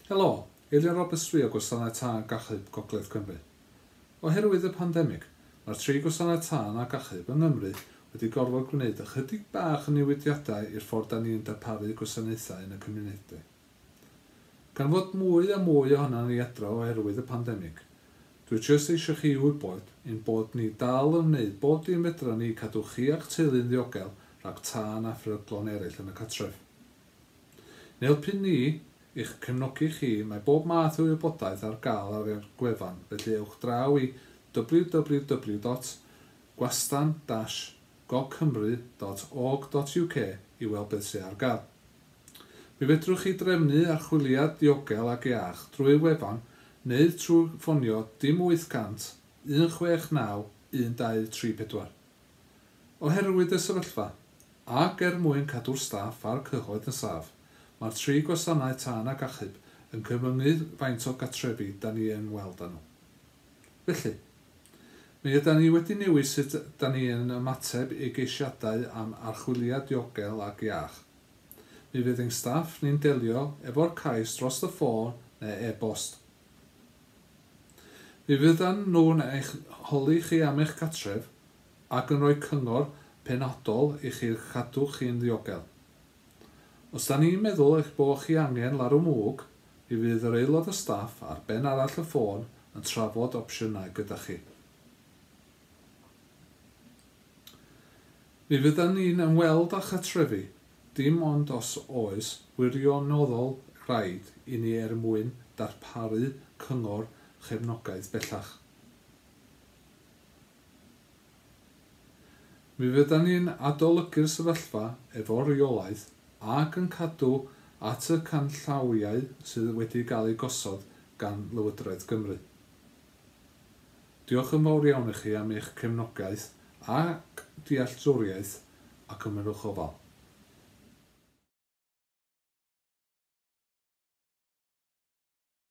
Helo, Eilian Roberts dwi o Gwasanaeth Tân ac Achub Gogledd Cymru. Oherwydd y pandemig, mae'r tri gwasanaeth tân ac achub yng Nghymru wedi gorfod gwneud ychydig bach o newidiadau i'r ffordd 'da ni'n darparu gwasanaethau yn y cymunedau. Gan fod mwy a mwy ohonan ni adra oherwydd y pandemig, dwi jyst eisiau chi wybod ein bod ni dal yn wneud bob dim fedran ni i cadw chi a'ch teulu'n ddiogel rhag tân a pheryglon eraill yn y cartref. Yn helpu ni i'ch cefnogi chi, mae bob math o wybodaeth ar gael ar ein gwefan, felly ewch draw i www.gwastan-gogcymru.org.uk i weld beth sydd ar gael. Mi fedrwch chi drefnu archwiliad diogel ac iach drwy'r wefan neu trwy ffonio dim 800 169 1234. Oherwydd y sefyllfa, ac er mwyn cadw'r staff a'r cyhoedd yn saff, mae'r tri gwasanaeth tân ac achub yn cyfyngu faint o gartrefi 'da ni yn ymweld â nhw. Felly, mi ydan ni wedi newid sut 'da ni yn ymateb i geisiadau am archwiliad diogel ac iach. Mi fydd ein staff ni'n delio efo'r cais dros y ffôn neu e-bost. Mi fyddan nhw'n eich holi chi am eich cartref ac yn rhoi cyngor penodol i chi i'ch cadw chi'n ddiogel. Os 'da ni'n meddwl eich bod chi angen larwm mwg, mi fydd yr aelod o staff ar ben arall y ffôn yn trafod opsiynau gyda chi. Mi fyddan ni'n ymweld â chartrefi dim ond os oes wirioneddol raid i ni er mwyn darparu cyngor chefnogaeth bellach. Mi fyddan ni'n adolygu'r sefyllfa efo rheolaeth ac yn cadw at y canllawiau sydd wedi gael eu gosod gan Lywodraeth Gymru. Diolch yn fawr iawn i chi am eich cefnogaeth ac dealltwriaeth a cymerwch ofal.